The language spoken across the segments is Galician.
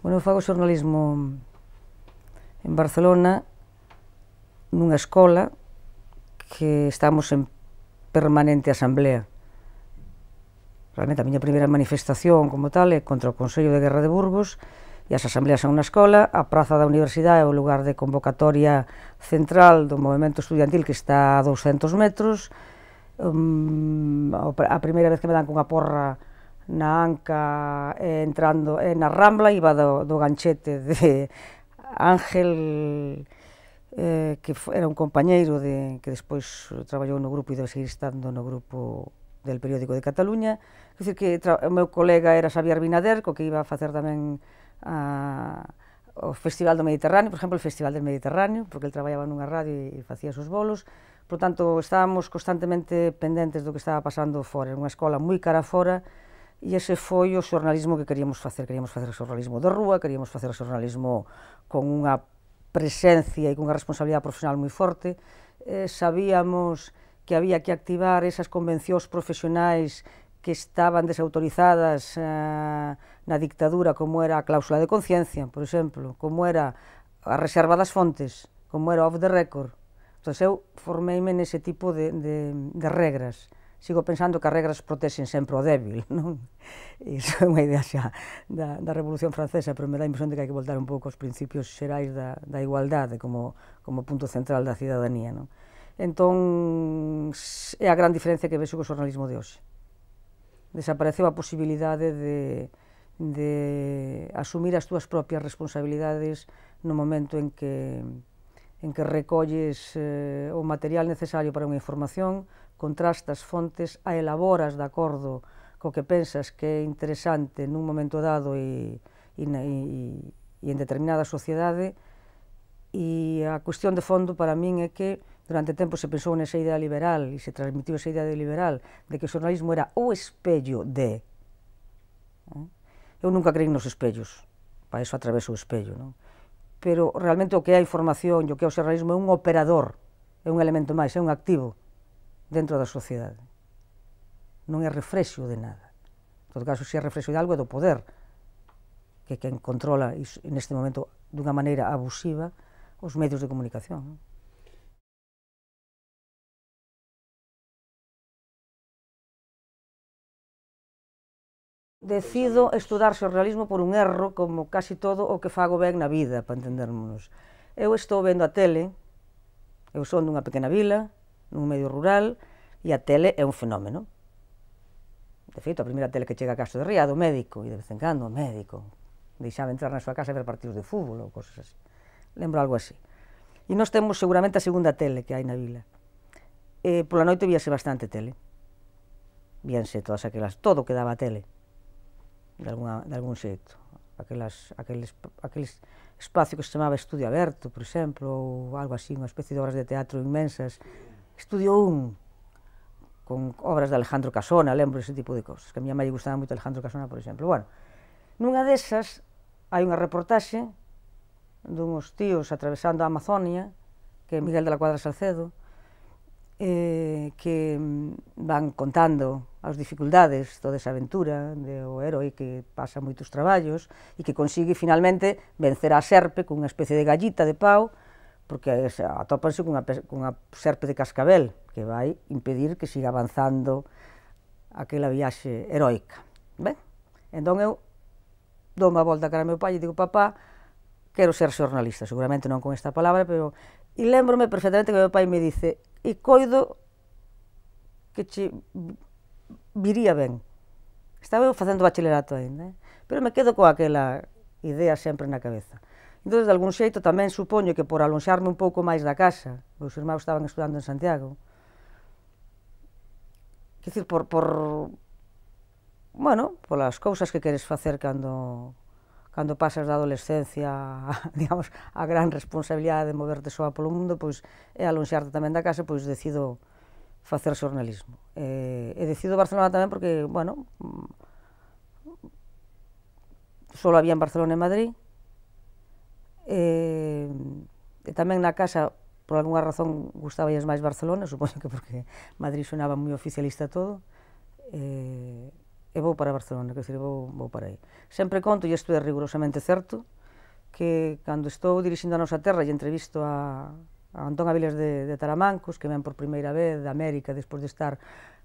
Bueno, eu fago xornalismo en Barcelona, nunha escola que estamos en permanente asamblea. Realmente a miña primeira manifestación como tal é contra o Consello de Guerra de Burgos, e as asambleas son na escola, a praza da Universidade é o lugar de convocatoria central do movimento estudiantil que está a 200 metros. A primeira vez que me dan cunha porra na anca entrando na Rambla iba do ganchete de Ángel, que era un compañeiro que despois traballou no grupo e debe seguir estando no grupo del Periódico de Cataluña. Quer dicir que o meu colega era Xavier Binader, co que iba a facer tamén o Festival do Mediterráneo, por exemplo, o Festival del Mediterráneo, porque el traballaba nunha radio e facía os bolos. Por tanto, estábamos constantemente pendentes do que estaba pasando fora, en unha escola moi cara fora, e ese foi o xornalismo que queríamos facer xornalismo de rúa, queríamos facer xornalismo con unha presencia e con unha responsabilidade profesional moi forte. Sabíamos que había que activar esas convencións profesionais que estaban desautorizadas na dictadura, como era a cláusula de conciencia, por exemplo, como era a reserva das fontes, como era off the record. Entón, eu formeime nese tipo de regras. Sigo pensando que as regras protexen sempre o débil, non? Iso é unha idea xa da Revolución Francesa, pero me dá a impresión de que hai que voltar un pouco aos principios xerais da igualdade como punto central da cidadanía, non? Entón, é a gran diferencia que vexo co xornalismo de hoxe. Desapareceu a posibilidade de asumir as túas propias responsabilidades no momento en que recolles o material necesario para unha información, contrastas fontes, a elaboras de acordo co que pensas que é interesante nun momento dado e en determinada sociedade. E a cuestión de fondo para min é que durante tempo se pensou nesa idea liberal e se transmitiu esa idea liberal de que o xornalismo era o espello de... Eu nunca creí nos espellos, para iso atraveso o espello, non? Pero realmente o que é a información e o que é o xornalismo é un operador, é un elemento máis, é un activo dentro da sociedade. Non é refrexo de nada. En todo caso, se é refrexo de algo é do poder, que quen controla neste momento dunha maneira abusiva os medios de comunicación. Decido estudar xornalismo por un erro, como casi todo o que fago ben na vida, para entendermos. Eu estou vendo a tele, eu son dunha pequena vila, nun medio rural, e a tele é un fenómeno. De feito, a primeira tele que chega a Castro de Riado, o médico, e de vez en cando o médico deixaba entrar na súa casa e ver partidos de fútbol ou cosas así. Lembro algo así. E nós temos seguramente a segunda tele que hai na vila. Pola noite víase bastante tele. Víanse todas aquelas, todo o que daba a tele, de algún xeito. Aquel espacio que se chamaba Estudio Aberto, por exemplo, ou algo así, unha especie de obras de teatro inmensas. Estudio 1, con obras de Alejandro Casona, lembro ese tipo de cosas, que a miña mãe lle gustaba moito Alejandro Casona, por exemplo. Bueno, nunha desas hai unha reportaxe dunhos tíos atravesando a Amazonia, que é Miguel de la Cuadra Salcedo, que van contando as dificultades, toda esa aventura do herói que pasa moitos traballos e que consigue finalmente vencer a serpe cunha especie de gallita de pau, porque atópanse cunha serpe de cascabel que vai impedir que siga avanzando aquela viaxe heroica. Ben, entón eu dou unha volta cara ao meu pai e digo: papá, quero ser xornalista, seguramente non con esta palabra, pero... E lembrome perfectamente que o meu pai me dice: e coido que che viría ben. Estaba eu facendo bacharelato ainda, pero me quedo con aquela idea sempre na cabeza. Entón, de algún xeito, tamén supoño que por alonxarme un pouco máis da casa, os irmáns estaban estudando en Santiago, quer dicir, bueno, polas cousas que queres facer cando pasas da adolescencia, digamos, a gran responsabilidade de moverte soa polo mundo, pois é alonxarte tamén da casa, pois decido facer xornalismo. E decido Barcelona tamén porque, bueno, só había en Barcelona e Madrid, e tamén na casa, por algunha razón, gustaballes máis Barcelona, supoño que porque Madrid sonaba moi oficialista todo, e vou para Barcelona, quer dizer, vou para aí. Sempre conto, e isto é rigurosamente certo, que cando estou dirixindo a nosa terra e entrevisto a Antón Avilés de Taramancos, que ven por primeira vez de América despois de estar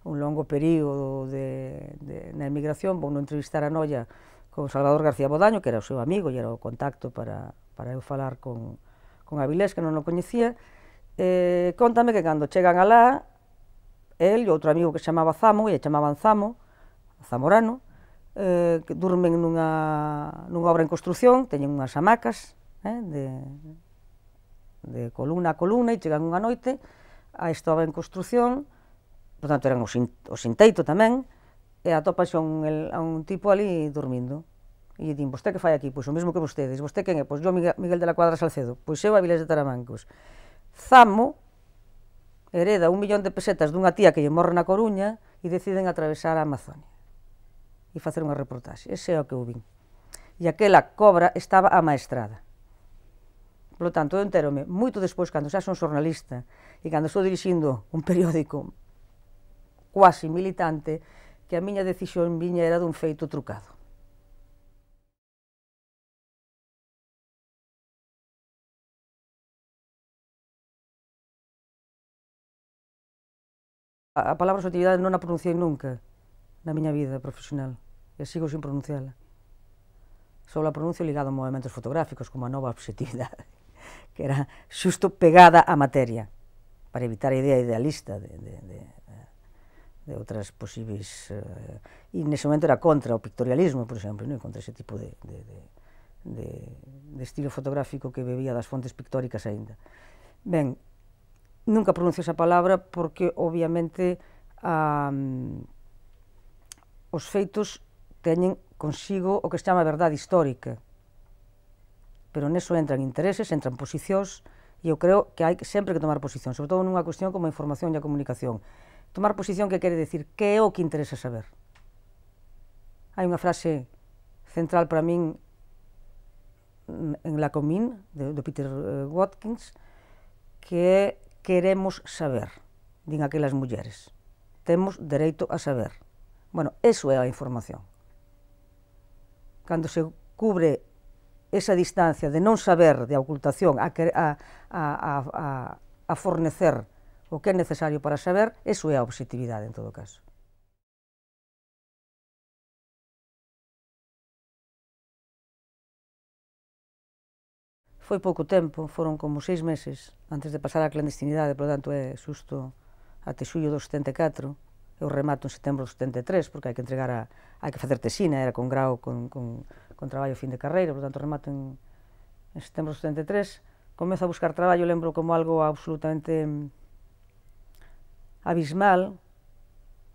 un longo período na emigración, vou non entrevistar a Noia con Salvador García Bodaño, que era o seu amigo e era o contacto para eu falar con Avilés, que non o coñecía. Contame que cando chegan alá, el e outro amigo que se chamaba Zamo, e chamaban Zamo, Zamorano, que durmen nunha obra en construción, teñen unhas hamacas de columna a columna, e chegan unha noite a esta obra en construción, por tanto eran os sin teito tamén, e atópanse a un tipo ali dormindo, e din: vosté que fai aquí? Pois o mesmo que vostedes. Vosté quen é? Pois yo, Miguel de la Cuadra Salcedo. Pois eu, Avilés de Taramancos. Zamo hereda 1 millón de pesetas dunha tía que lle morre na Coruña e deciden atravesar a Amazonia e facer unha reportaxe. Ese é o que eu vin. E aquela cobra estaba amaestrada. Por lo tanto, eu entérome moito despois, cando xa son xornalista e cando estou dirixindo un periódico quasi militante, que a miña decisión viña era dun feito trucado. A palabra objetividade non a pronunciei nunca na miña vida profesional, e sigo sin pronunciala. Só a pronuncio ligado a movimentos fotográficos, como a nova objetividade, que era xusto pegada á materia, para evitar a idea idealista de outras posíveis... E nese momento era contra o pictorialismo, por exemplo, contra ese tipo de estilo fotográfico que bebía das fontes pictóricas aínda. Ben, nunca pronuncio esa palabra porque, obviamente, os feitos teñen consigo o que se chama verdade histórica, pero neso entran intereses, entran posicións, e eu creo que hai sempre que tomar posición, sobre todo nunha cuestión como a información e a comunicación. Tomar posición, que quere decir? Que é o que interesa saber. Hai unha frase central para min en La Comín, de Peter Watkins, que é: queremos saber, din aquelas mulleres. Temos dereito a saber. Bueno, eso é a información. Cando se cubre esa distancia de non saber, de ocultación, a fornecer o que é necesario para saber, eso é a objetividade, en todo caso. Foi pouco tempo, foron como 6 meses antes de pasar a clandestinidade, por tanto é xusto até xullo do 74, eu remato en setembro do 73, porque hai que entregar hai que facer tesina, era con grau, con traballo fin de carreira, por tanto remato en setembro do 73, comezo a buscar traballo, lembro como algo absolutamente abismal,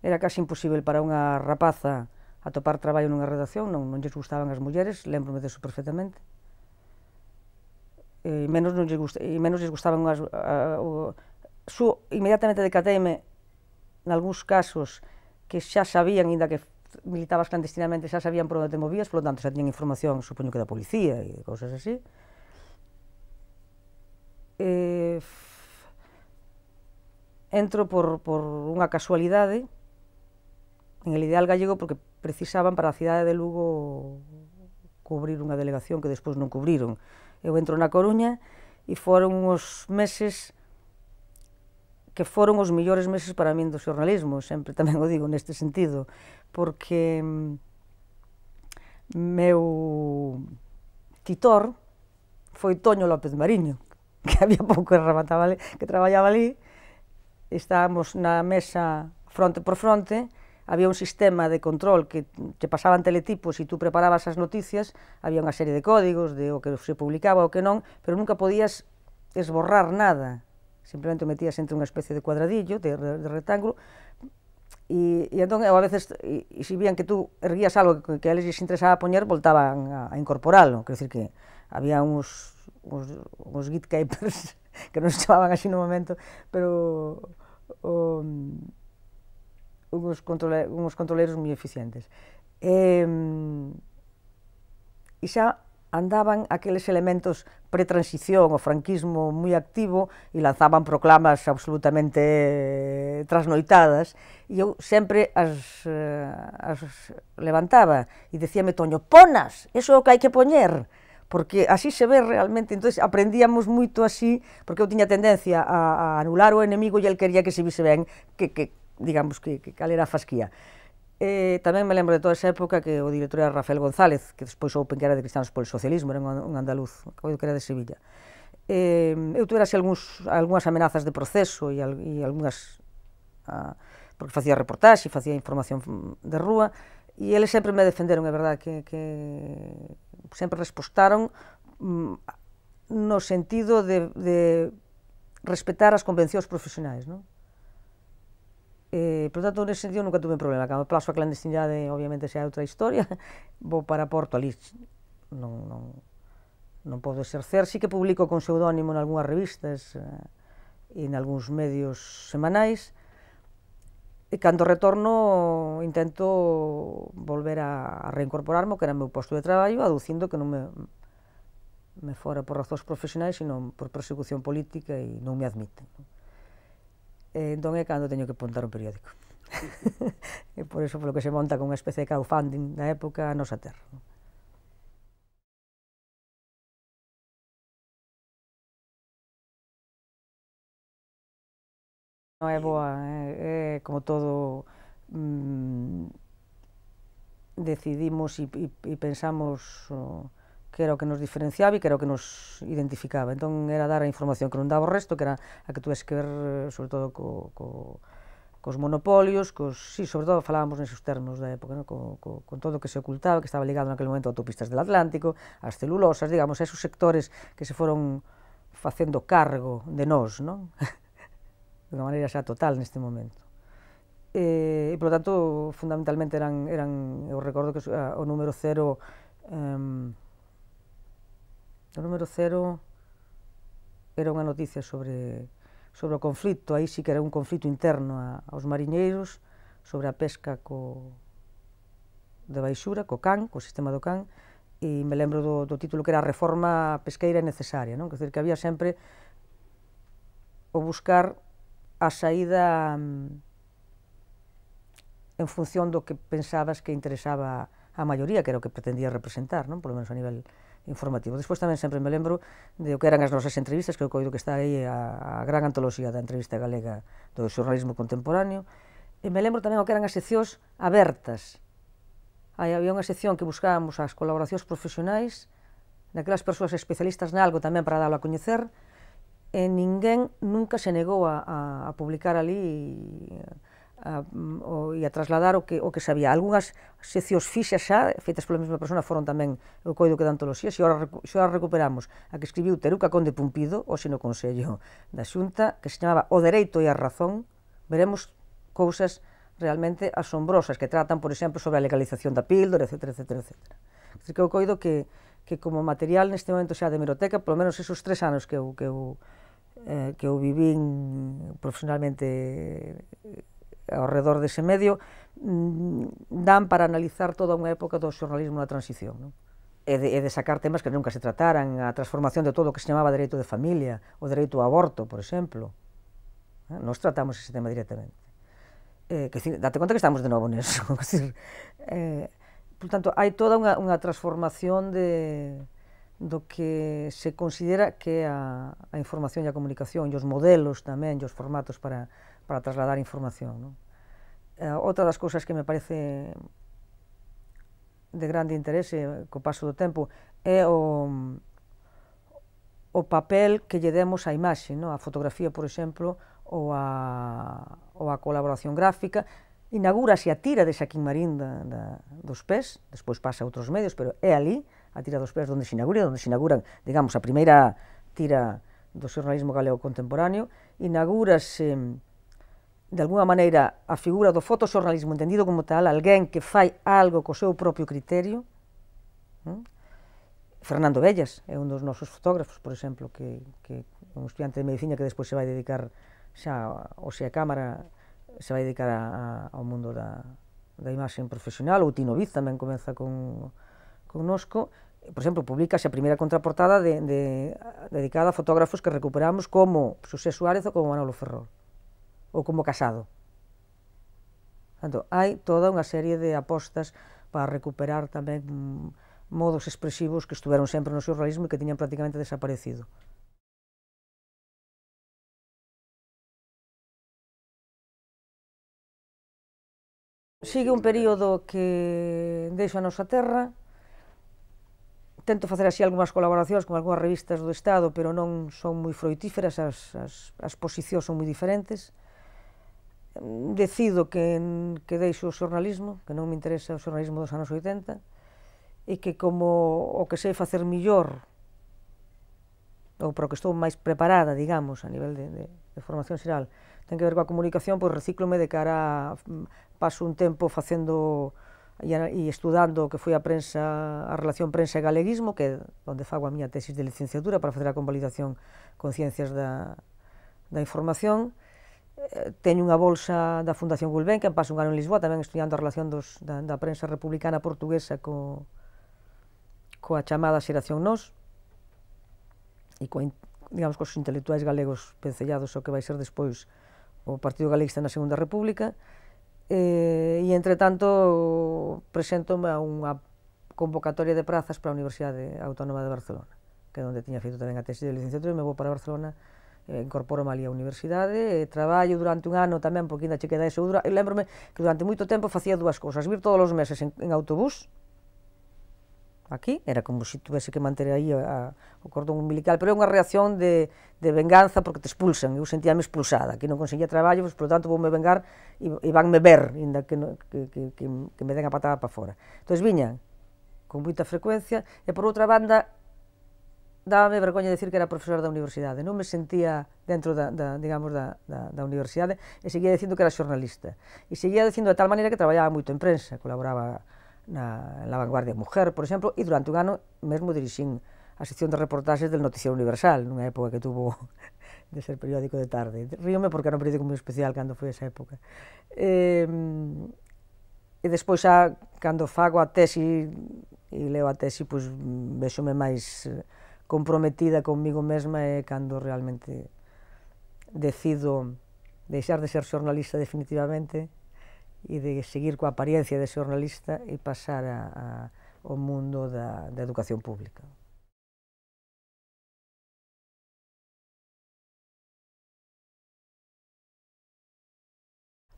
era casi imposible para unha rapaza atopar traballo nunha redacción, non lles gustaban as mulleres, lembro-me deso perfectamente, e menos lles gustaban unhas... Inmediatamente decateime nalgúns casos que xa sabían, ainda que militabas clandestinamente, xa sabían por onde te movías, por lo tanto xa tiñan información, supoño que da policía e cousas así. entro por unha casualidade en El Ideal Gallego porque precisaban para a cidade de Lugo cubrir unha delegación que despois non cubriron. Eu entro na Coruña e foron uns meses que foron os millores meses para min do xornalismo, sempre tamén o digo neste sentido, porque meu titor foi Toño López Mariño, que había pouco que traballaba ali. Estábamos na mesa fronte por fronte, había un sistema de control que te pasaban teletipos e tú preparabas as noticias, había unha serie de códigos de o que se publicaba o que non, pero nunca podías esborrar nada, simplemente o metías entre unha especie de cuadradillo, de rectángulo, e entón, a veces, e se vían que tú erguías algo que a eles lles interesaba poñer, voltaban a incorporalo, quer dizer que había uns gatekeepers que non se chamaban así no momento, pero uns controleiros moi eficientes. E xa andaban aqueles elementos pre-transición, o franquismo moi activo, e lanzaban proclamas absolutamente trasnoitadas, e eu sempre as levantaba, e decíame Toño, ponas, eso é o que hai que poñer, porque así se ve realmente. Entón aprendíamos moito así, porque eu tiña tendencia a anular o enemigo e el quería que se vise ben digamos, que cal era a fasquía. Tamén me lembro de toda esa época que o director era Rafael González, que despois soupen que era de Cristianos polo Socialismo, era un andaluz, que era de Sevilla. Eu tuvera así algunhas amenazas de proceso e algunhas, porque facía reportaxe, facía información de rúa, e eles sempre me defenderon, é verdade, que sempre respostaron no sentido de respetar as convencións profesionais, non? Por tanto, nese sentido nunca tuve un problema. Cando plazo a clandestinidade, obviamente, xa é outra historia, vou para Porto ali, non podo exercer. Sí que publico con pseudónimo en algunhas revistas e en algúns medios semanais, e cando retorno intento volver a reincorporarme, que era o meu posto de traballo, aducindo que non me fora por razóns profesionais, sino por persecución política, e non me admiten. Entón é cando teño que apuntar un periódico. E por iso polo que se monta con unha especie de crowdfunding da época a Nosa Terra. Non é boa, é como todo, decidimos e pensamos que era o que nos diferenciaba e que era o que nos identificaba. Entón era dar a información que non daba o resto, que era a que tuves que ver, sobre todo, cos monopolios, sobre todo falábamos neses termos da época, con todo o que se ocultaba, que estaba ligado naquele momento a autopistas del Atlántico, as celulosas, digamos, esos sectores que se foron facendo cargo de nós, non? De unha maneira xa total neste momento. E, polo tanto, fundamentalmente eran eu recordo que o número cero era unha noticia sobre o conflito, aí sí que era un conflito interno aos mariñeiros, sobre a pesca de baixura, co can, co sistema do can, e me lembro do título que era a reforma pesqueira necesaria, non? Quer dizer, que había sempre o buscar a saída en función do que pensabas que interesaba a maioría, que era o que pretendía representar, non? Polo menos a nivel informativo. Despois tamén sempre me lembro de o que eran as nosas entrevistas, que eu coido que está aí a gran antoloxía da entrevista galega do xornalismo contemporáneo, e me lembro tamén o que eran as seccións abertas. Había unha sección que buscábamos as colaboracións profesionais, daquelas persoas especialistas nalgo tamén para dalo a coñecer, e ninguén nunca se negou a publicar ali e a trasladar o que sabía. Algúnas seccións fixas xa, feitas pola mesma persona, foron tamén o coido que da antoloxía. Se ahora recuperamos a que escribiu Teruca Conde Pumpido, hoxe no Consello da Xunta, que se chamaba O dereito e a razón, veremos cousas realmente asombrosas que tratan, por exemplo, sobre a legalización da píldora, etc. Que eu coido que como material neste momento xa de hemeroteca, polo menos esos 3 anos que eu vivín profesionalmente ao redor dese medio, dan para analizar toda unha época do xornalismo na transición, non? E de sacar temas que nunca se trataran, a transformación de todo o que se chamaba dereito de familia, o dereito ao aborto, por exemplo. Nós tratamos ese tema directamente. Date conta que estamos de novo neso. Portanto, hai toda unha transformación do que se considera que é a información e a comunicación, e os modelos tamén, e os formatos para trasladar información. Outra das cousas que me parece de grande interese co paso do tempo é o papel que lle demos á imaxe, a fotografía, por exemplo, ou a colaboración gráfica. Inaugúrase a tira de Xaquín Marín dos pés, despois pasa a outros medios, pero é ali, a tira dos pés, onde se inauguran, digamos, a primeira tira do xornalismo galego contemporáneo. Inaugúrase, de alguna maneira, a figura do fotoxornalismo entendido como tal, alguén que fai algo co seu propio criterio. Fernando Vellas é un dos nosos fotógrafos, por exemplo, que é un estudiante de medicina que despois se vai dedicar xa ao xe cámara, se vai dedicar ao mundo da imaxe profesional. Ou Tino Viz tamén comeza connosco. Por exemplo, publicase a primeira contraportada dedicada a fotógrafos que recuperamos como Xosé Suárez ou como Manolo Ferrol, ou como Casado. Portanto, hai toda unha serie de apostas para recuperar tamén modos expresivos que estuveron sempre no xornalismo e que tiñan prácticamente desaparecido. Sigue un período que deixo a nosa terra. Tento facer así algunhas colaboracións con algunhas revistas do Estado, pero non son moi froitíferas, as posicións son moi diferentes. Decido que deixo o xornalismo, que non me interesa o xornalismo dos anos 80, e que como o que sei facer millor, ou para o que estou máis preparada, digamos, a nivel de formación xeral, ten que ver coa comunicación, pois recíclome de cara paso un tempo facendo e estudando o que foi a relación prensa e galeguismo, que é onde fago a miña tesis de licenciatura para facer a convalidación con ciencias da información. Teño unha bolsa da Fundación Gulbenkian, paso un ano en Lisboa tamén estudiando a relación da prensa republicana portuguesa coa chamada xeración Nós e digamos cos intelectuais galegos pencellados ao que vai ser despois o Partido Galeguista na Segunda República. E, entretanto, preséntome a unha convocatoria de prazas para a Universidade Autónoma de Barcelona, que é onde tiña feito tamén a tesis de licenciatura, e me vou para Barcelona, incorporo-me ali á universidade, traballo durante un ano tamén, porque ainda che queda eso. Lembro-me que durante moito tempo facía dúas cousas: vir todos os meses en autobús, aquí, era como se tuvese que manter aí o cordón umbilical, pero é unha reacción de venganza porque te expulsan. Eu sentíame expulsada, que non conseguía traballo, pois, por lo tanto, voume vengar e vanme ver, ainda que me den a patada para fora. Entón, viñan con moita frecuencia, e por outra banda, dábame vergoña decir que era profesor da universidade. Non me sentía dentro digamos, da universidade, e seguía dicindo que era xornalista. E seguía dicindo de tal maneira que traballaba moito en prensa, colaboraba na Vanguardia Mujer, por exemplo, e durante un ano mesmo dirixín a sección de reportaxes del Noticiero Universal, nunha época que tuvo de ser periódico de tarde. Ríome porque era un periódico moi especial cando foi esa época. E despois, xa, cando fago a tesi e leo a tesi, pois véxome máis comprometida conmigo mesma, e cando realmente decido deixar de ser xornalista definitivamente e de seguir coa apariencia de xornalista e pasar ao mundo da educación pública.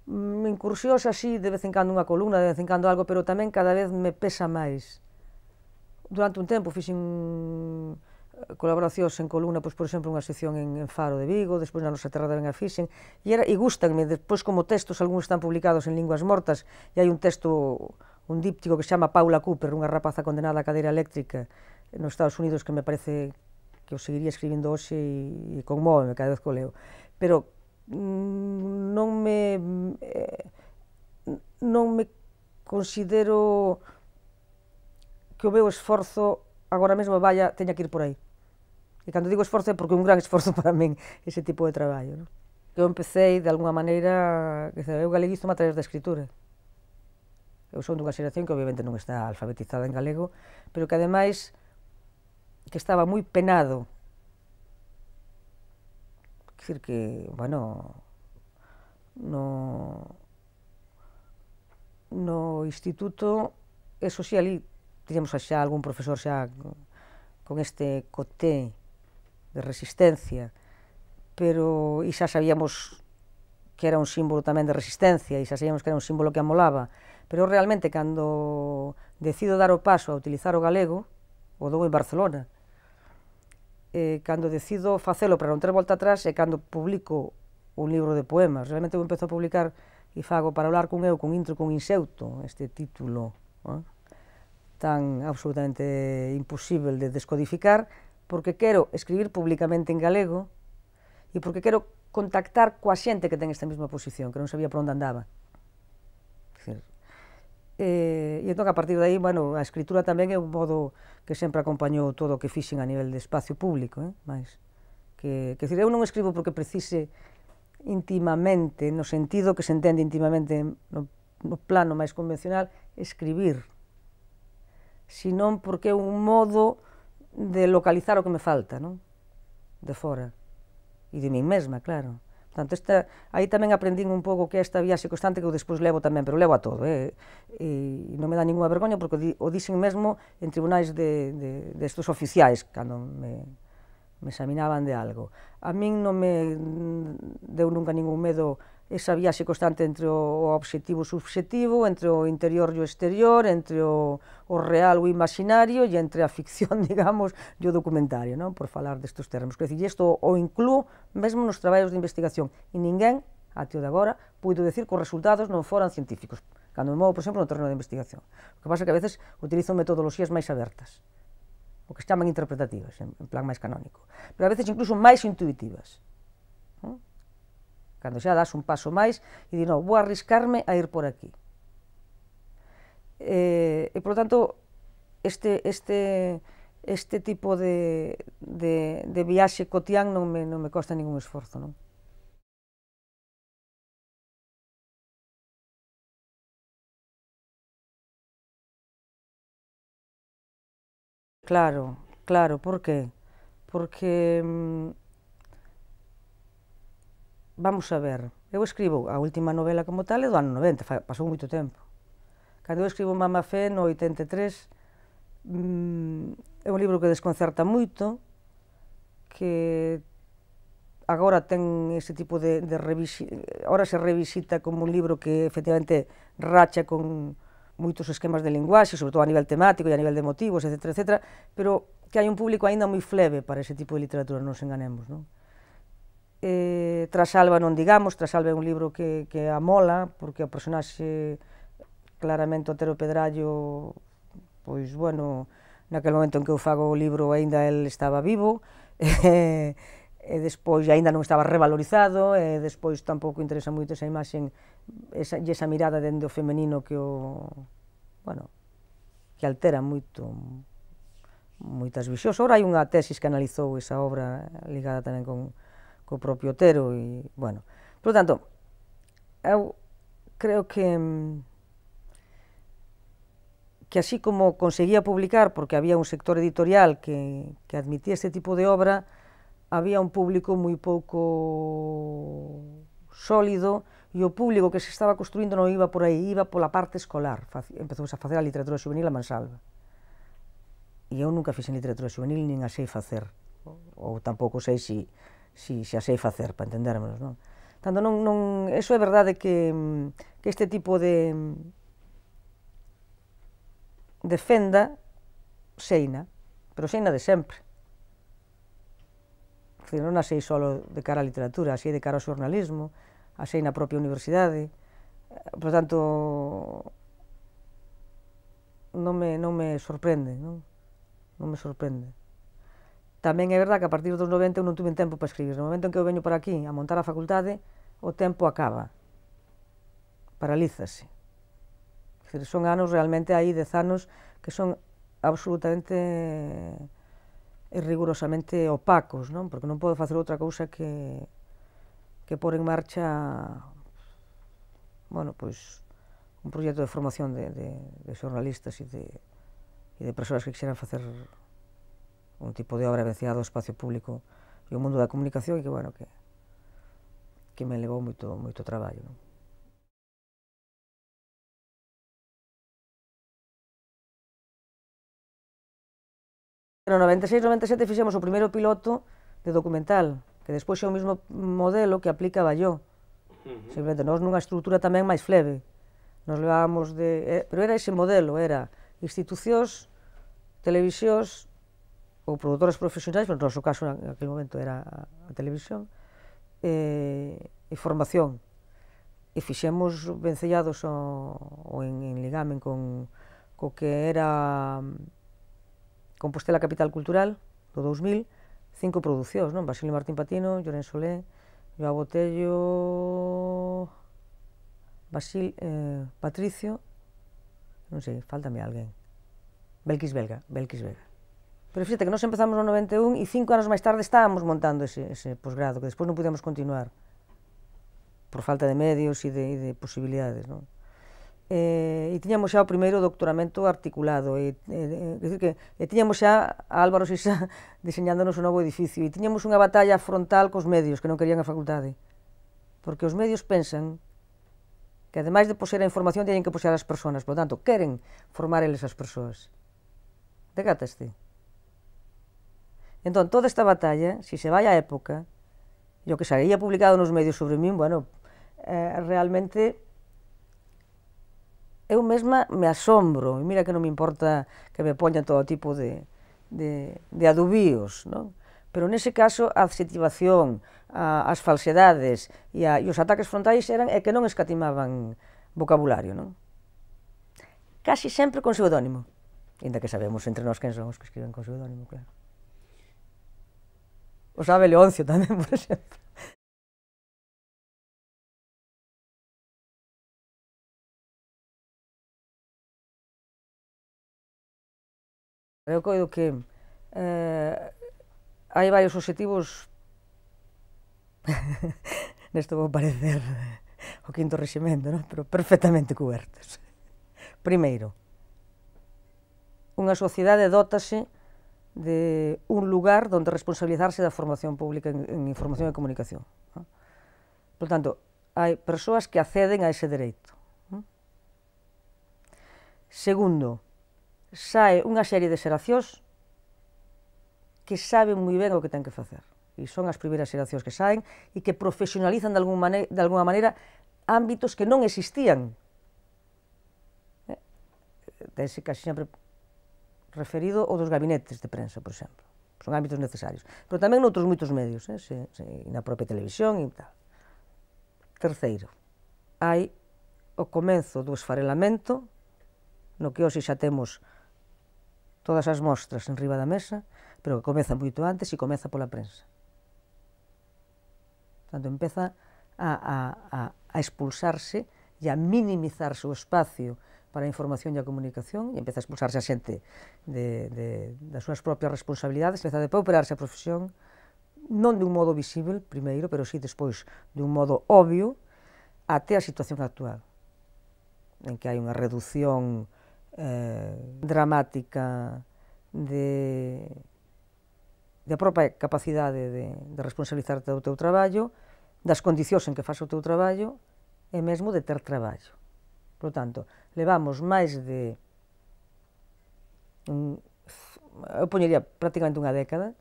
Incursións así, de vez en cando unha columna, de vez en cando algo, pero tamén cada vez me pesa máis. Durante un tempo fixen colaboracións en columna, pois, por exemplo, unha sección en Faro de Vigo, despois na Nosa Terra tamén a fixen, e gustanme, despois como textos, algúns están publicados en Linguas Mortas, e hai un texto, un díptico que se chama Paula Cooper, unha rapaza condenada á cadeira eléctrica nos Estados Unidos, que me parece que o seguiría escribindo hoxe e conmóveme cada vez que o leo. Pero non me considero que o meu esforzo agora mesmo teña que ir por aí. E cando digo esforzo é porque é un gran esforzo para min ese tipo de traballo. Eu empecé, de alguna maneira, eu galeguizo-me a través da escritura. Eu son dunha xeración que obviamente non está alfabetizada en galego, pero que ademais que estaba moi penado. Quer dicir que, bueno, no instituto, eso si, ali tiñamos xa algún profesor xa con este coté de resistencia, pero e xa sabíamos que era un símbolo tamén de resistencia, e xa sabíamos que era un símbolo que amolaba, pero realmente cando decido dar o paso a utilizar o galego, o dou en Barcelona, cando decido facelo para non ter volta atrás é cando publico un libro de poemas. Realmente eu empezo a publicar e fago Para hablar con eu, con intro, con inseuto, este título tan absolutamente imposible de descodificar, porque quero escribir públicamente en galego e porque quero contactar coa xente que ten esta mesma posición, que non sabía por onde andaba. E entón, a partir de aí, bueno, a escritura tamén é un modo que sempre acompañou todo o que fixen a nivel de espacio público, máis que decir, eu non escribo porque precise intimamente, no sentido que se entende intimamente no plano máis convencional, escribir, senón porque é un modo de localizar o que me falta, non? De fora, e de min mesma, claro. Portanto, aí tamén aprendín un pouco que esta viaxe constante que eu despois levo tamén, pero levo a todo, e non me dá ninguna vergoña, porque o dixen mesmo en tribunais destos oficiais, cando me examinaban de algo. A min non me deu nunca ningún medo esa viaxe constante entre o obxectivo e o subxectivo, entre o interior e o exterior, entre o real e o imaginario, e entre a ficción, digamos, e o documentario, non? Por falar destes termos. Quer dizer, isto o inclúo mesmo nos traballos de investigación, e ninguén, até o de agora, puido decir que os resultados non foran científicos, cando me movo, por exemplo, no terreno de investigación. O que pasa é que a veces utilizo metodoloxías máis abertas, o que se chaman interpretativas, en plan máis canónico, pero a veces incluso máis intuitivas. Cando xa das un paso máis e di, non, vou arriscarme a ir por aquí. E, por lo tanto, este tipo de viaxe cotián non me costa ningún esforzo, non? Claro, claro, por qué? Porque vamos a ver, eu escribo a última novela como tal é do ano 90, pasou moito tempo. Cando eu escribo Mamá Fe no 83, é un libro que desconcerta moito, que agora ten ese tipo de agora se revisita como un libro que efectivamente racha con moitos esquemas de linguaxe, sobre todo a nivel temático e a nivel de motivos, etc., etc., pero que hai un público aínda moi flebe para ese tipo de literatura, non nos enganemos, non? Trasalba non digamos, Trasalba é un libro que amola, porque o personaxe claramente Otero Pedrallo, pois, bueno, naquele momento en que eu fago o libro aínda el estaba vivo, e despois aínda non estaba revalorizado, e despois tampouco interesa moito esa imaxen e esa mirada dende o femenino que bueno, que altera moito moitas visións. Ora hai unha tesis que analizou esa obra ligada tamén co propio Otero e, bueno, por tanto, eu creo que así como conseguía publicar, porque había un sector editorial que admitía este tipo de obra, había un público moi pouco sólido, e o público que se estaba construindo non iba por aí, iba pola parte escolar, empezou a facer a literatura juvenil a mansalva. E eu nunca fixen literatura juvenil, nin a sei facer, ou tampouco sei se a sei facer, para entendermos, non? Tanto eso é verdade que este tipo de fenda seina, pero seina de sempre. Non a sei só de cara á literatura, a sei de cara ao xornalismo, a sei na propia universidade, por tanto, non me sorprende, non me sorprende. Tamén é verdade que a partir dos 90 eu non tuve tempo para escribir. No momento en que eu veño por aquí a montar a facultade, o tempo acaba, paralízase. Son anos, realmente, hai 10 anos que son absolutamente e rigurosamente opacos, non? Porque non podo facer outra cousa que pôr en marcha, bueno, pois, un proxecto de formación de xornalistas e de persoas que quixeran facer un tipo de obra vencellada ao espacio público e ao mundo da comunicación, e que, bueno, que me levou moito traballo, non? No 96-97 fixemos o primeiro piloto de documental, que despois é o mesmo modelo que aplica Balló. Simplemente nós nunha estrutura tamén máis fleve. Nos levábamos pero era ese modelo, era institucións, televisións ou produtoras profesionais, pero no noso caso en aquel momento era a televisión, e formación. E fixemos vencellados ou en ligamen co que era Compostela Capital Cultural, do 2000, 5 producións, non? Basilio Martín Patino, Llorén Solé, Joao Botello, Patricio, non sei, faltame alguén. Belkis Belga. Pero fíxate que nós empezamos no 91 e 5 anos máis tarde estábamos montando ese posgrado, que despois non pudemos continuar por falta de medios e de posibilidades, non? E tiñamos xa o primeiro doutoramento articulado, tiñamos xa a Álvaro Sisa diseñándonos un novo edificio, e tiñamos unha batalla frontal cos medios que non querían a facultade, porque os medios pensan que ademais de poseer a información teñen que poseer as persoas, por tanto, queren formar eles as persoas. Decataste? Entón, toda esta batalla, se se vai á época, e o que saía publicado nos medios sobre min, bueno, realmente eu mesma me asombro, e mira que non me importa que me poñan todo tipo de adubíos, non? Pero nese caso a adxetivación, as falsedades e os ataques frontais eran que non escatimaban vocabulario, non? Casi sempre con pseudónimo, ainda que sabemos entre nós quen son os que escriben con pseudónimo, claro. O sabe Leoncio tamén, por exemplo. Eu coido que hai varios obxectivos nesto vou parecer o quinto reximento, non? Pero perfectamente cubertos. Primeiro, unha sociedade dótase de un lugar donde responsabilizarse da formación pública en información e comunicación, non? Por tanto, hai persoas que acceden a ese dereito. Segundo, sae unha serie de xeracións que saben moi ben o que ten que facer, e son as primeiras xeracións que saen e que profesionalizan de alguna maneira ámbitos que non existían. Tense casi sempre referido ao dos gabinetes de prensa, por exemplo. Son ámbitos necesarios, pero tamén noutros moitos medios, na propia televisión e tal. Terceiro, hai o comenzo do esfarelamento, no que hoxe xa temos todas as mostras en riba da mesa, pero que comeza moito antes e comeza pola prensa. Portanto, empeza a expulsarse e a minimizarse o espacio para a información e a comunicación, e empeza a expulsarse a xente das súas propias responsabilidades, empeza a depauperarse a profesión, non de un modo visible, primeiro, pero sí despois de un modo obvio, até a situación actual, en que hai unha reducción dramática da propia capacidade de responsabilizarte do teu traballo, das condicións en que faz o teu traballo e mesmo de ter traballo. Por tanto, levamos máis de, eu poñería prácticamente unha década,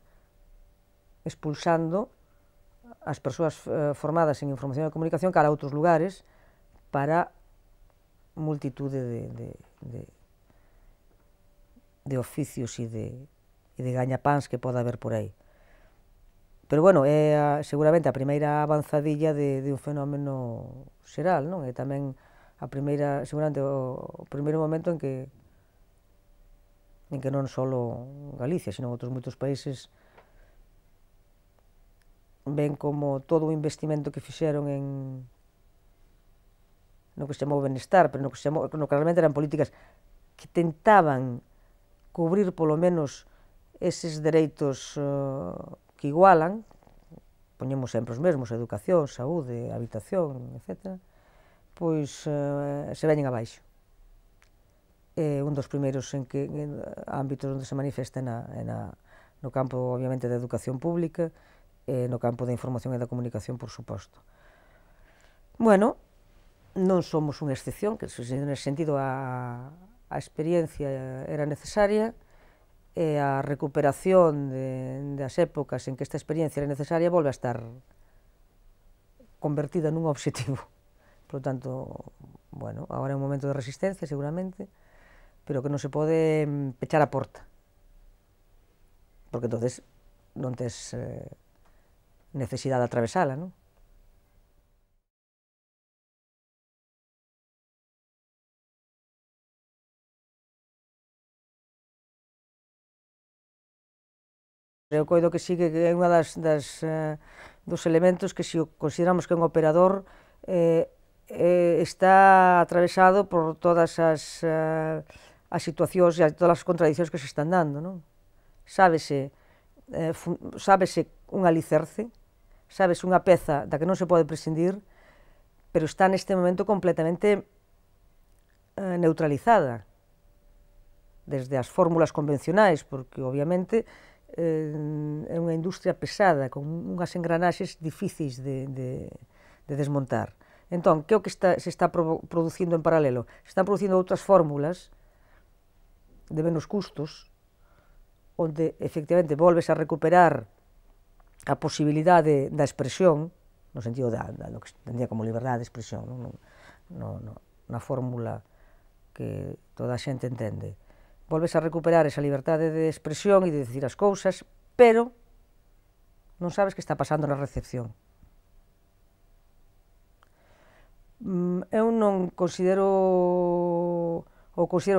expulsando as persoas formadas en información e comunicación cara a outros lugares para multitude de oficios e de gañapáns que poda haber por aí. Pero, bueno, é seguramente a primeira avanzadilla de un fenómeno xeral, non? É tamén a primeira, seguramente, o primeiro momento en que non só Galicia, sino outros moitos países ven como todo o investimento que fixeron no que se chamou benestar, pero no que realmente eran políticas que tentaban cubrir polo menos eses dereitos que igualan, poñemos sempre os mesmos, educación, saúde, habitación, etc., pois se veñen abaixo. Un dos primeiros ámbitos onde se manifesta no campo, obviamente, da educación pública, no campo da información e da comunicación, por suposto. Bueno, non somos unha excepción, que nese sentido a experiencia era necesaria, e a recuperación das épocas en que esta experiencia era necesaria volve a estar convertida nun obxectivo. Por lo tanto, bueno, agora é un momento de resistencia, seguramente, pero que non se pode pechar a porta, porque entonces non tes necesidade de atravesala, non? Eu coido que sí que é unha dos elementos que, se consideramos que é un operador, está atravesado por todas as situacións e todas as contradicións que se están dando, non? Sábese un alicerce, sábese unha peza da que non se pode prescindir, pero está neste momento completamente neutralizada desde as fórmulas convencionais, porque obviamente é unha industria pesada, con unhas engranaxes difíceis de desmontar. Entón, que é o que se está producindo en paralelo? Se están producindo outras fórmulas de menos custos, onde efectivamente volves a recuperar a posibilidade da expresión, no sentido do que se entendía como liberdade de expresión, na fórmula que toda a xente entende. Volves a recuperar esa liberdade de expresión e de decir as cousas, pero non sabes que está pasando na recepción. Eu non considero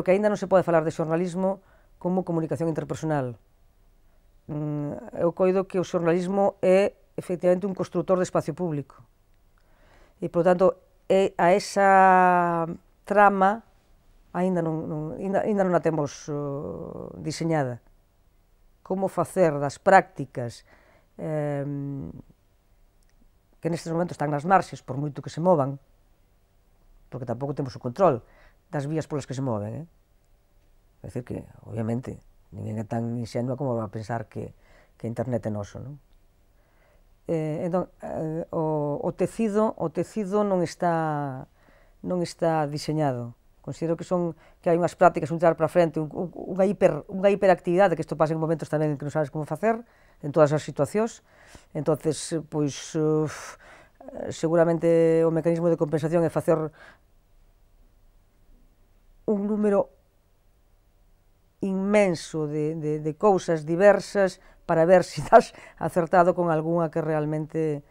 que aínda non se pode falar de xornalismo como comunicación interpersonal. Eu coido que o xornalismo é efectivamente un constructor de espacio público e, por tanto, a esa trama aínda non a temos diseñada. Como facer das prácticas que nestes momentos están nas marxes, por moito que se movan, porque tampouco temos o control das vías polas que se moven. É dicir que, obviamente, ninguén é tan inxenua como a pensar que internet é noso, non? Entón, o tecido non está diseñado. Considero que hai unhas prácticas, un tirar para frente, unha hiperactividade, que isto pasa en momentos tamén en que non sabes como facer, en todas as situacións. Entonces, pois, seguramente o mecanismo de compensación é facer un número inmenso de cousas diversas para ver se estás acertado con algunha que realmente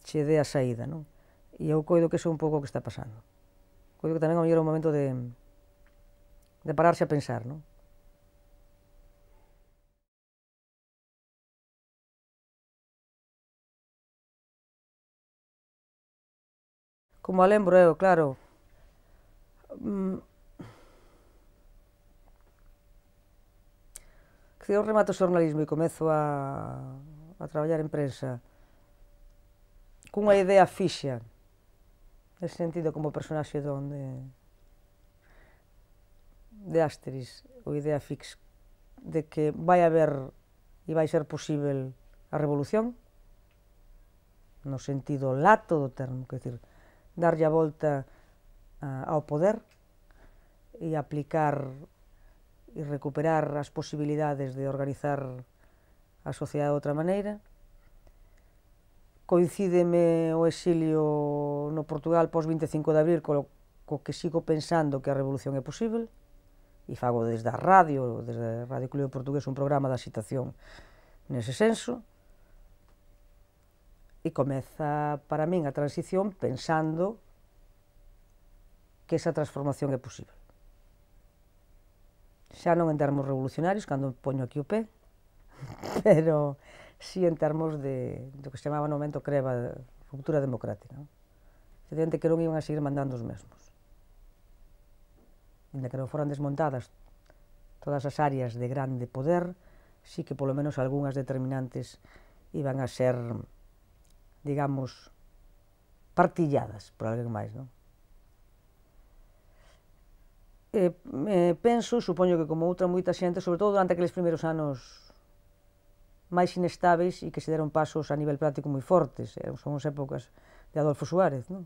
che dé a saída, non? E eu coido que iso é un pouco o que está pasando. Coido que tamén era un momento de pararse a pensar, non? Como a lembro eu, claro, que eu remato o xornalismo e comezo a traballar en prensa cunha idea fixa, nesse sentido, como personaxe de Asterix, ou idea fix, de que vai haber e vai ser posible a revolución, no sentido lato do termo, quer dizer, darlle a volta ao poder e aplicar e recuperar as posibilidades de organizar a sociedade de outra maneira. Coincídeme o exilio no Portugal pós 25 de abril co que sigo pensando que a revolución é posible, e fago desde a Radio Clube Portugués, un programa de agitación nese senso, e comeza para min a transición pensando que esa transformación é posible. Xa non en termos revolucionarios, cando poño aquí o pé, pero si en termos do que se chamaba no momento creva, ruptura democrática. Evidente que non iban a seguir mandando os mesmos. Ainda que non foran desmontadas todas as áreas de grande poder, sí que polo menos algunhas determinantes iban a ser, digamos, partilladas por alguén máis, non? Penso, supoño que como outra moita xente, sobre todo durante aqueles primeiros anos máis inestáveis e que se deron pasos a nivel práctico moi fortes, son as épocas de Adolfo Suárez, non?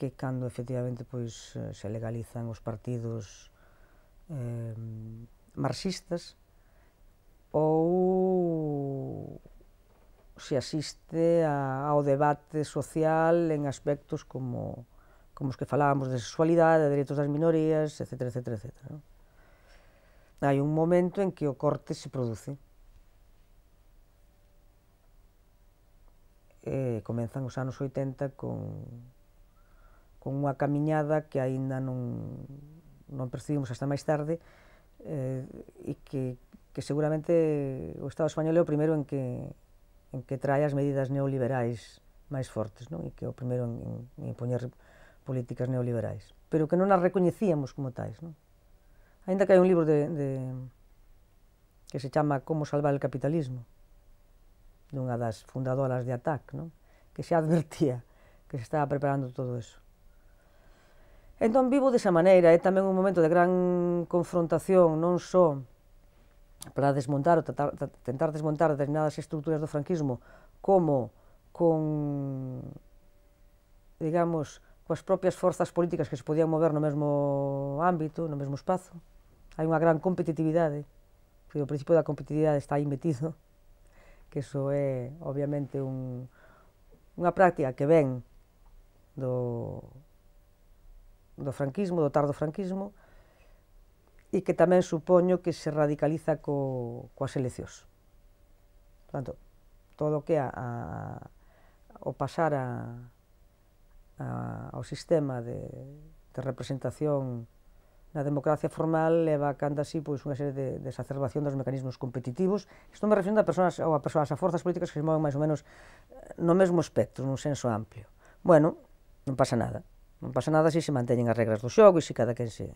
que cando efectivamente pois se legalizan os partidos marxistas, ou se asiste ao debate social en aspectos como os que falábamos de sexualidade, de dereitos das minorías, etc. Non? Hai un momento en que o corte se produce. Comenzan os anos 80 con unha camiñada que aínda non percibimos hasta máis tarde, e que seguramente o Estado español é o primeiro en que trae as medidas neoliberais máis fortes, non? E que é o primeiro en impoñer políticas neoliberais, pero que non as recoñecíamos como tais, non? Aínda que hai un libro que se chama Como salvar el capitalismo, dunha das fundadoras de ATAC, non? Que xa advertía que se estaba preparando todo eso. Entón vivo desa maneira, é tamén un momento de gran confrontación, non só para desmontar ou tentar desmontar determinadas estruturas do franquismo, como con, digamos, coas propias forzas políticas que se podían mover no mesmo ámbito, no mesmo espazo. Hai unha gran competitividade, que o principio da competitividade está aí metido, que iso é, obviamente, unha práctica que ven do franquismo, do tardo franquismo, e que tamén supoño que se radicaliza coas eleccións. Portanto, todo o que o pasar ao sistema de representación na democracia formal leva cando así pois unha serie de exacerbación dos mecanismos competitivos. Isto me refiro a persoas, a forzas políticas que se moven máis ou menos no mesmo espectro, nun senso amplio. Bueno, non pasa nada. Non pasa nada se manteñen as regras do xogo e se cada quen se...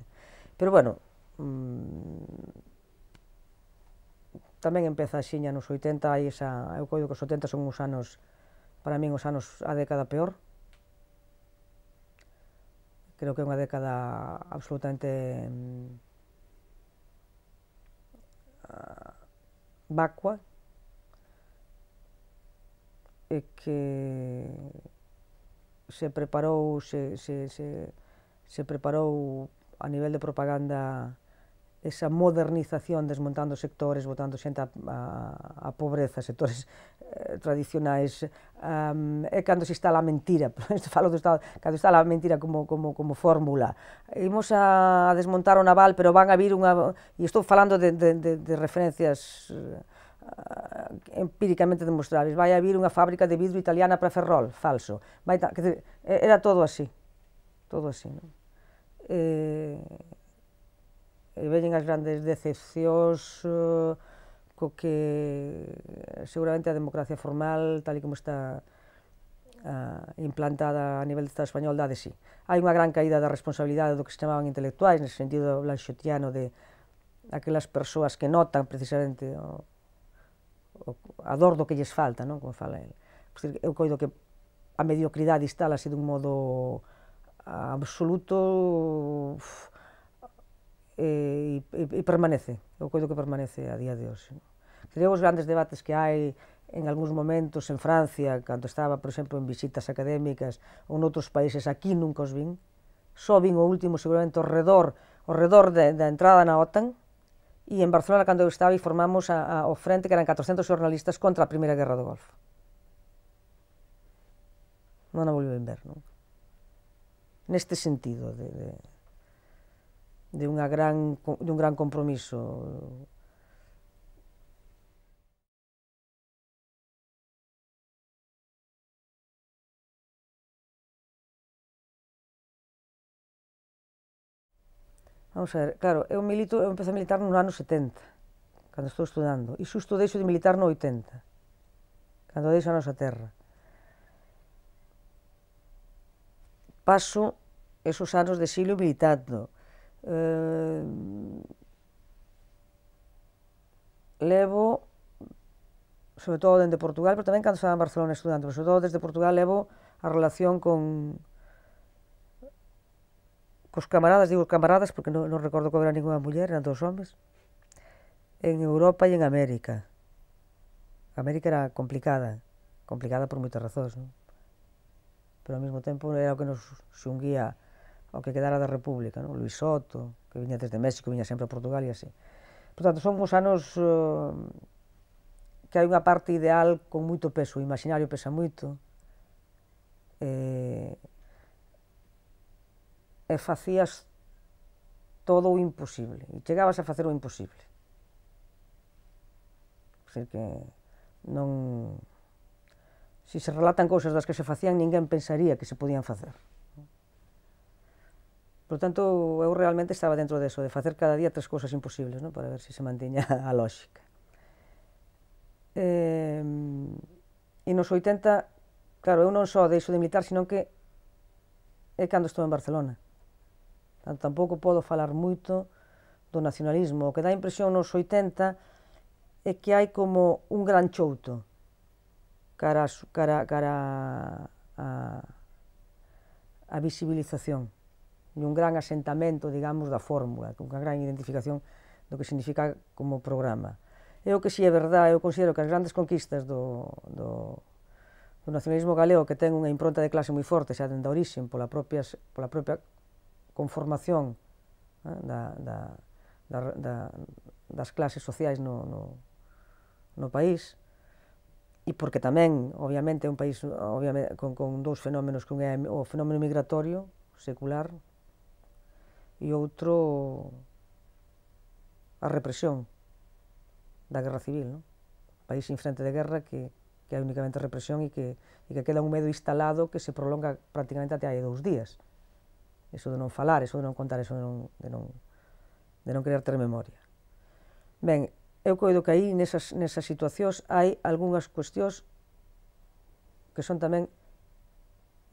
Pero bueno, tamén empeza axiña nos 80, hai esa... Eu coido que os 80 son uns anos, para min, os anos, a década peor. Creo que é unha década absolutamente vacua, e que se preparou a nivel de propaganda esa modernización, desmontando sectores, botando xente a pobreza, sectores tradicionais, é cando se instala a mentira, falo do Estado, cando instala a mentira como fórmula. Imos a desmontar o naval, pero van a vir unha... E estou falando de referencias empíricamente demostrables. Vai a vir unha fábrica de vidro italiana para Ferrol, falso. Era todo así, non? E veñen as grandes decepcións co que seguramente a democracia formal, tal e como está implantada a nivel do Estado español, dá de sí. Hai unha gran caída da responsabilidade do que se chamaban intelectuais, nese sentido lanxotiano de aquelas persoas que notan precisamente a dor do que lles falta, non? Como fala ele. Eu coido que a mediocridade instálase dun modo absoluto e permanece, eu coido que permanece a día de hoxe. Serían os grandes debates que hai en algúns momentos en Francia, cando estaba, por exemplo, en visitas académicas ou noutros países. Aquí nunca os vin, só vin o último seguramente ao redor da entrada na OTAN, e en Barcelona, cando eu estaba, e formamos o frente, que eran 400 xornalistas contra a Primeira Guerra do Golfo. Non a volven ver, non? Neste sentido de un gran compromiso. Vamos a ver, claro, eu empecé a militar nos anos 70, cando estou estudando, e xusto deixo de militar no 80, cando deixo a nosa terra. Paso esos anos de exilio militando. Levo, sobre todo dende Portugal, pero tamén cando estaba en Barcelona estudando, pero sobre todo desde Portugal levo a relación cos camaradas, digo camaradas porque non recordo que era ninguna muller, eran todos homes, en Europa e en América. A América era complicada por moitas razóns, non? pero ao mesmo tempo era o que nos xunguía ao que quedara da República, non? Luis Soto, que viña desde México, viña sempre a Portugal e así. Por tanto, son uns anos que hai unha parte ideal con moito peso, o imaginario pesa moito, e facías todo o imposible, e chegabas a facer o imposible. É dicir, que non... Se se relatan cousas das que se facían, ninguén pensaría que se podían facer. Por tanto, eu realmente estaba dentro deso, de facer cada día 3 cousas imposibles, non? Para ver se se mantiña a lógica. E nos 80, claro, eu non só deixo de militar, sino que é cando estou en Barcelona. Tampouco podo falar moito do nacionalismo. O que dá impresión nos 80 é que hai como un gran chouto cara a visibilización e un gran asentamento, digamos, da fórmula, con unha gran identificación do que significa como programa. E o que si é verdade, eu considero que as grandes conquistas do nacionalismo galego, que ten unha impronta de clase moi forte, xa dende a orixen, pola propia conformación das clases sociais no país, e porque tamén, obviamente, é un país con dous fenómenos, que un é o fenómeno migratorio secular e outro a represión da guerra civil, non? País sin frente de guerra que hai únicamente represión e que queda un medo instalado que se prolonga prácticamente até hai 2 días. Eso de non falar, eso de non contar, eso de non querer ter memoria. Ben, eu coido que aí, nesas situacións, hai algunhas cuestións que son tamén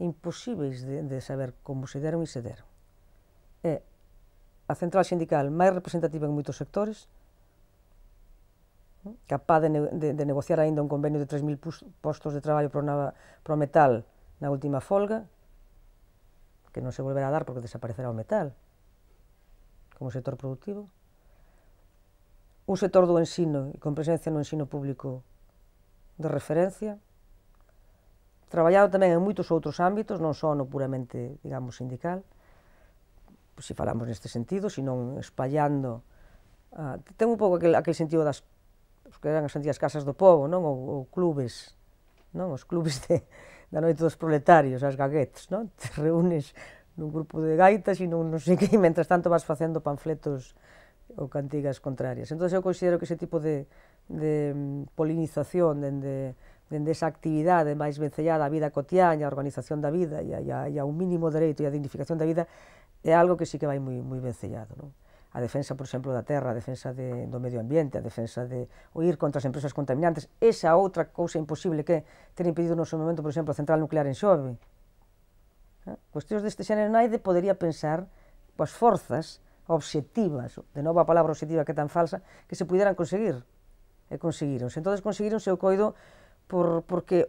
imposíveis de saber como se deron e se deron. É a central sindical máis representativa en moitos sectores, capaz de negociar aínda un convenio de 3.000 postos de traballo para o metal na última folga, que non se volverá a dar porque desaparecerá o metal como sector productivo. Un sector do ensino e con presencia no ensino público de referencia, traballado tamén en moitos outros ámbitos, non só no puramente, digamos, sindical, se falamos neste sentido, senón espallando, ten un pouco aquel sentido das que eran as antigas casas do povo, non? Ou clubes, non? Os clubes da noite dos proletarios, as gaguetes, non? Te reúnes nun grupo de gaitas e non sei que, e mentras tanto vas facendo panfletos ou cantigas contrarias. Entón, eu considero que ese tipo de polinización dende esa actividade máis vencellada á vida cotián, á organización da vida e ao mínimo dereito e á dignificación da vida é algo que sí que vai moi vencellado, non? A defensa, por exemplo, da terra, a defensa do medio ambiente, a defensa de ir contra as empresas contaminantes, esa outra cousa imposible que ter impedido no seu momento, por exemplo, a central nuclear en Xove. Cuestións deste xénero naide podería pensar coas forzas obxectivas, de novo a palabra obxectiva que é tan falsa, que se puderan conseguir, e conseguíronse. Entón, conseguíronse, eu coido, porque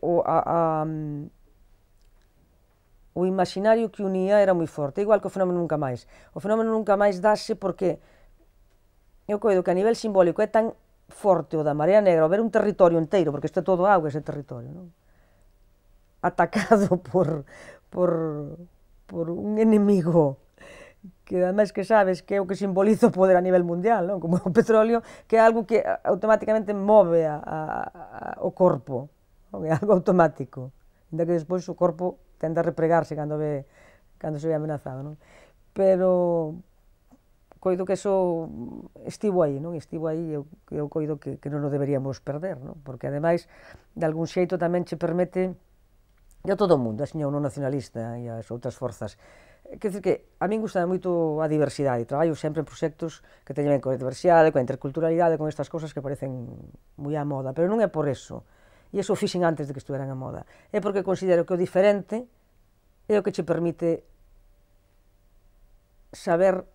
o imaginario que unía era moi forte, igual que o fenómeno Nunca Máis. O fenómeno Nunca Máis dáse porque eu coido que a nivel simbólico é tan forte o da Marea Negra, o ver un territorio inteiro, porque isto é todo auga, ese territorio, non? Atacado por un enemigo que ademais que sabes que é o que simboliza o poder a nivel mundial, non? Como o petróleo, que é algo que automáticamente move o corpo, non? É algo automático, ainda que despois o corpo tende a repregarse cando se ve amenazado, non? Pero coido que eso estivo aí, non? Estivo aí, eu coido que non o deberíamos perder, non? Porque ademais, de algún xeito tamén che permite, e a todo o mundo, a non nacionalista e as outras forzas, quer dizer que a min gusta moito a diversidade, traballo sempre en proxectos que teñen con a diversidade, con a interculturalidade, con estas cosas que parecen moi á moda, pero non é por eso, e iso o fixen antes de que estuveran a moda, é porque considero que o diferente é o que che permite saber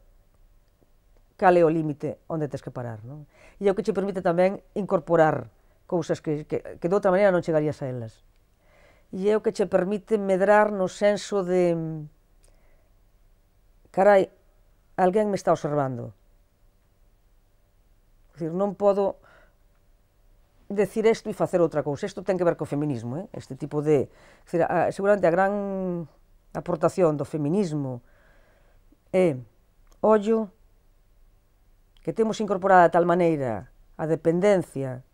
cal é o límite onde tes que parar, non? E é o que che permite tamén incorporar cousas que de outra maneira non chegarías a elas. E é o que che permite medrar no senso de carai, alguén me está observando. É dicir, non podo decir isto e facer outra cousa. Isto ten que ver co feminismo, este tipo de... Seguramente a gran aportación do feminismo é, ollo, que temos incorporada de tal maneira a dependencia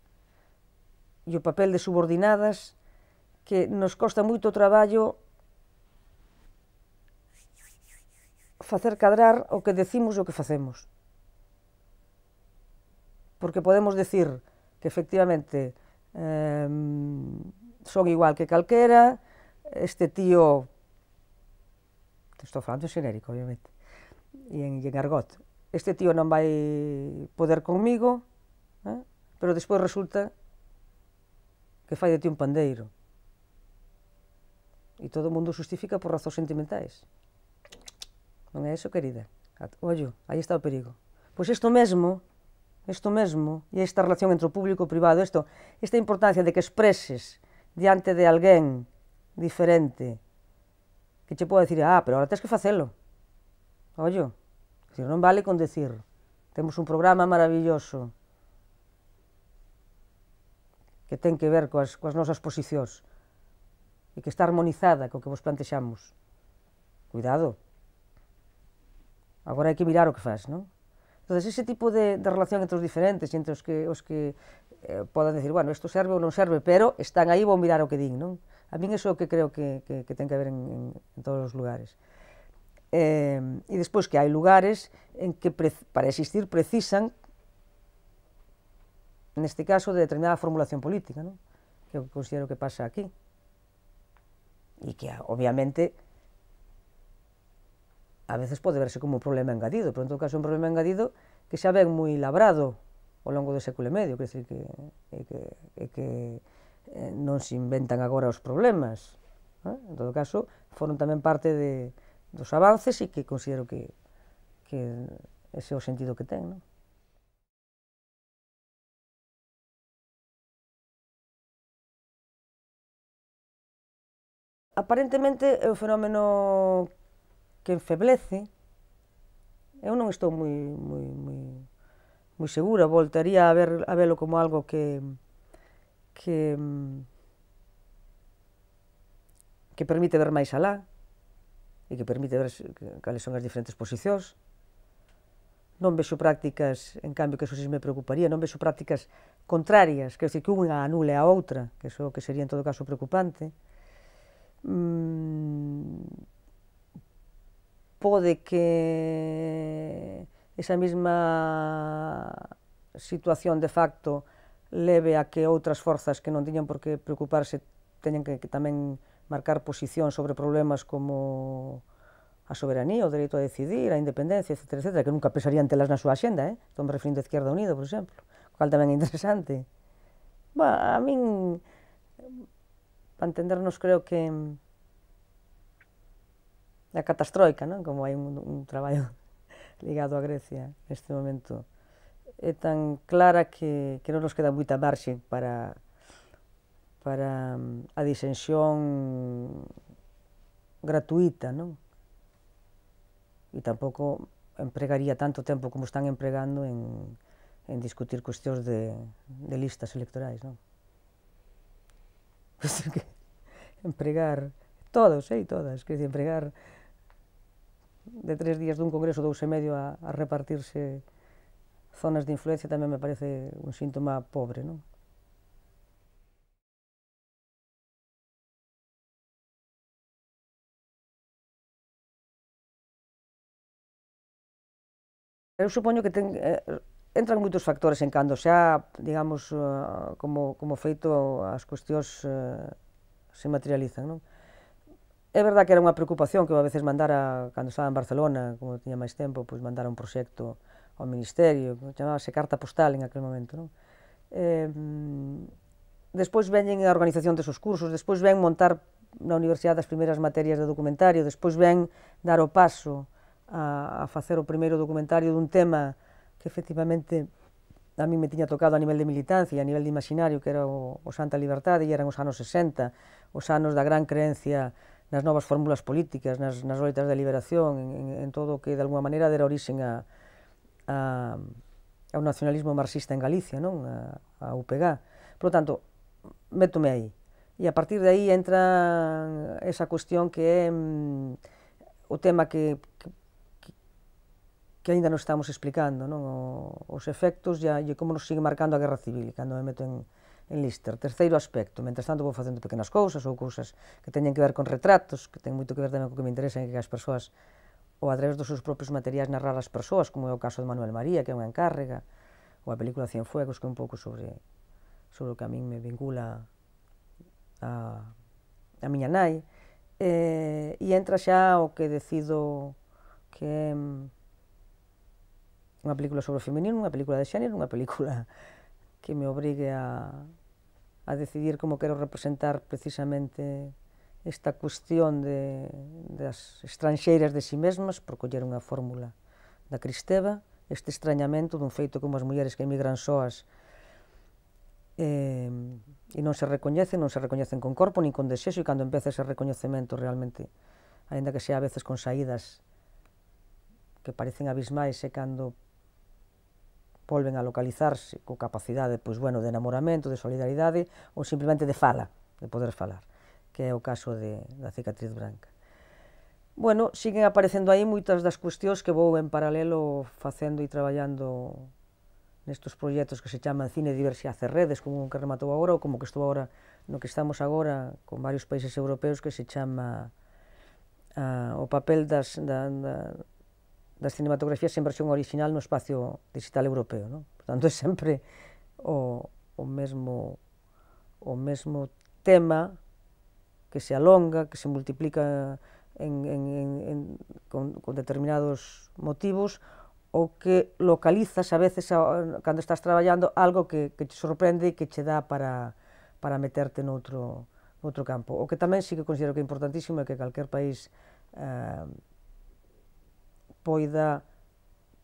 e o papel de subordinadas que nos costa moito traballo facer cadrar o que decimos e o que facemos. Porque podemos decir que efectivamente son igual que calquera, este tío, estou falando en xenérico, obviamente, e en argot, este tío non vai poder conmigo, pero despois resulta que fai de ti un pandeiro. E todo o mundo justifica por razóns sentimentais. Non é iso, querida? Ollo, aí está o perigo. Pois isto mesmo, e esta relación entre o público e o privado, esta importancia de que expreses diante de alguén diferente que che pode decir, pero ahora tens que facelo. Ollo, non vale con decir, temos un programa maravilloso que ten que ver coas nosas posicións e que está armonizada co que vos plantexamos. Cuidado. Agora hai que mirar o que faz, non? Entón, ese tipo de relación entre os diferentes e entre os que podan decir, bueno, isto serve ou non serve, pero están aí, vou mirar o que din, non? A min iso é o que creo que ten que haber en todos os lugares. E despois que hai lugares en que para existir precisan, neste caso, de determinada formulación política, non? Que é o que considero que pasa aquí. E que, obviamente, a veces pode verse como un problema engadido, pero en todo caso é un problema engadido que xa ven moi labrado ao longo do século e medio, quer dizer que non se inventan agora os problemas. En todo caso, foron tamén parte dos avances e que considero que ese é o sentido que ten, non? Aparentemente é un fenómeno que enfeblece. Eu non estou moi segura, voltaría a velo como algo que permite ver máis alá e que permite ver cales son as diferentes posicións. Non vexo prácticas, en cambio, que eso sí me preocuparía, non vexo prácticas contrarias, quer dizer, que unha anule a outra, que eso que sería en todo caso preocupante. Pode que esa mesma situación de facto leve a que outras forzas que non tiñan por que preocuparse teñan que tamén marcar posición sobre problemas como a soberanía, o dereito a decidir, a independencia, etc., que nunca pensarían telas na súa axenda, estou me referindo a Izquierda Unida, por exemplo, o cal tamén é interesante. A min, para entendernos, creo que a catastroica, non? Como hai un traballo ligado a Grecia neste momento, é tan clara que non nos queda moita marxe para a disensión gratuita, non? E tampouco empregaría tanto tempo como están empregando en discutir cuestións de listas electorais, non? Empregar todos, todas, quer dizer, empregar de 3 días dun congreso, 2 e medio a repartirse zonas de influencia tamén me parece un síntoma pobre, non? Eu supoño que entran moitos factores en cando xa, digamos, como feito as cuestións se materializan, non? É verdad que era unha preocupación que eu a veces mandara, cando estaba en Barcelona, como tiña máis tempo, pois mandara un proxecto ao Ministerio, chamábase Carta Postal en aquel momento, non? Despois veñen a organización desos cursos, despois ven montar na universidade as primeiras materias de documentario, despois ven dar o paso a facer o primeiro documentario dun tema que efectivamente a mí me tiña tocado a nivel de militancia, a nivel de imaginario, que era o Santa Liberdade, e eran os anos 60, os anos da gran creencia nas novas fórmulas políticas, nas loitas de liberación, en todo o que de alguma maneira dera orixen ao nacionalismo marxista en Galicia, non? A UPG. Por lo tanto, métome aí. E a partir de aí entra esa cuestión que é o tema que aínda non estamos explicando, non? Os efectos e como nos sigue marcando a Guerra Civil, cando me meto en Lister. Terceiro aspecto, mentres tanto vou facendo pequenas cousas ou cousas que teñen que ver con retratos, que ten moito que ver tamén co que me interesa, en que as persoas, ou a través dos seus propios materiais, narrar as persoas, como é o caso de Manuel María, que é unha encárrega, ou a película Cienfuegos, que é un pouco sobre o que a min me vincula a miña nai, e entra xa o que decido que é unha película sobre o feminino, unha película de xénero, unha película que me obrigue a decidir como quero representar precisamente esta cuestión das estranxeiras de si mesmas, por coller unha fórmula da Cristeva, este extrañamento dun feito como as mulleres que emigran soas e non se recoñecen con corpo nin con desexo, e cando empeza ese recoñecemento realmente, aínda que sea a veces con saídas que parecen abismais, e cando volven a localizarse co capacidade, pois, bueno, de enamoramento, de solidaridade, ou simplemente de fala, de poder falar, que é o caso da cicatriz branca. Bueno, siguen aparecendo aí moitas das cuestións que vou en paralelo facendo e traballando nestes proxectos que se chaman Cine, Diversidade e Redes, como o que rematou agora, ou como que estou agora, no que estamos agora, con varios países europeos, que se chama o papel das cinematografías en versión original no espacio digital europeo, non? Por tanto, é sempre o mesmo tema que se alonga, que se multiplica con determinados motivos, ou que localizas a veces, cando estás traballando, algo que te sorprende e que che dá para meterte noutro campo. O que tamén sí que considero que é importantísimo é que calquer país poida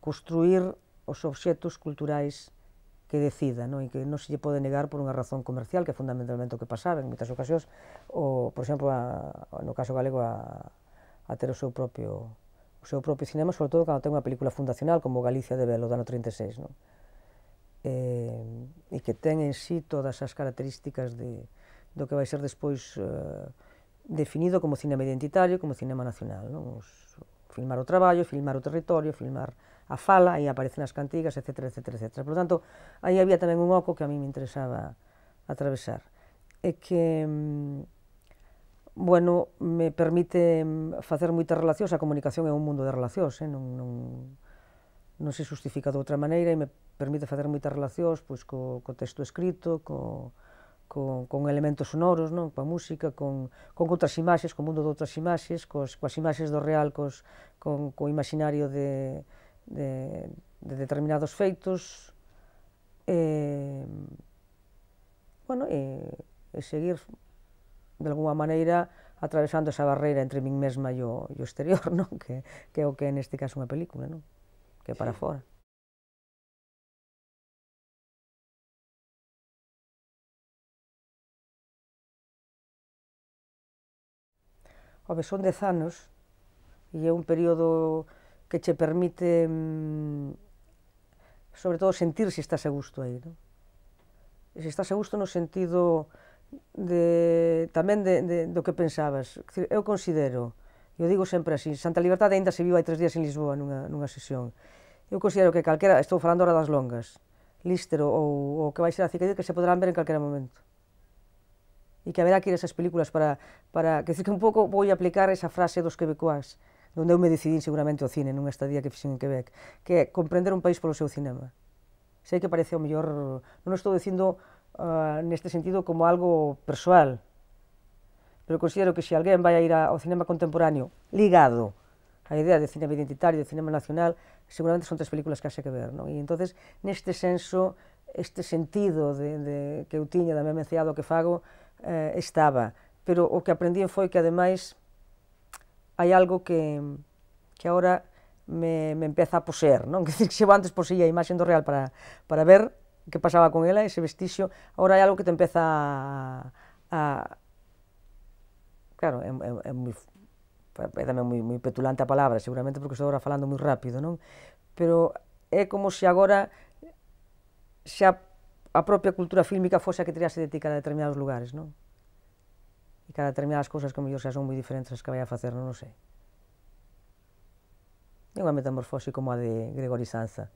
construir os obxectos culturais que decida, non? E que non se lle pode negar por unha razón comercial, que é fundamentalmente o que pasaba en moitas ocasións, por exemplo, no caso galego, a ter o seu propio cinema, sobre todo cando ten unha película fundacional como Galicia de Belo, do ano 36, non? E que ten en sí todas as características do que vai ser despois definido como cinema identitario, como cinema nacional, non? Filmar o traballo, filmar o territorio, filmar a fala, aí aparecen as cantigas, etc, etc, etc. Por tanto, aí había tamén un oco que a mí me interesaba atravesar, e que, bueno, me permite facer moitas relacións. A comunicación é un mundo de relacións, non se justifica de outra maneira, e me permite facer moitas relacións, pois, co texto escrito, con elementos sonoros, non? Coa música, con outras imaxes, co mundo de outras imaxes, coas imaxes do real, co imaginario de determinados feitos, bueno, e seguir de alguma maneira atravesando esa barreira entre min mesma e o exterior, non? Que é o que é neste caso unha película, non? Que é para fora. Home, son 10 anos e é un período que che permite sobre todo sentir se estás a gusto aí, non? E se estás a gusto no sentido tamén do que pensabas. Eu considero, eu digo sempre así, Santa Libertade ainda se viu hai 3 días en Lisboa nunha sesión. Eu considero que calquera, estou falando ahora das longas, Lister ou que vai ser a cicatriz, que se poderán ver en calquera momento. E que haberá que ir esas películas para que decir que un pouco vou aplicar esa frase dos quebecois, onde eu me decidín seguramente ao cine nunha estadía que fixen en Quebec, que é comprender un país polo seu cinema. Sei que parece o mellor, non estou dicindo neste sentido como algo persoal, pero considero que se alguén vai a ir ao cinema contemporáneo ligado á idea de cinema identitario, de cinema nacional, seguramente son 3 películas que haxe que ver, non? E entonces, neste senso, este sentido que eu tiña da mesma menciado que fago estaba, pero o que aprendín foi que ademais hai algo que agora me empeza a poseer, non? Que dicir, que xevo antes poseía a imaxe do real para ver que pasaba con ela, ese vestixio, agora hai algo que te empeza claro, é tamén moi petulante a palabra, seguramente porque estou agora falando moi rápido, non? Pero é como se agora xa a propia cultura fílmica fose a que tirase de ti cada determinados lugares, non? E cada determinadas cousas que mellor xa son moi diferentes as que vai a facer, non o sei. É unha metamorfose como a de Gregory Samsa.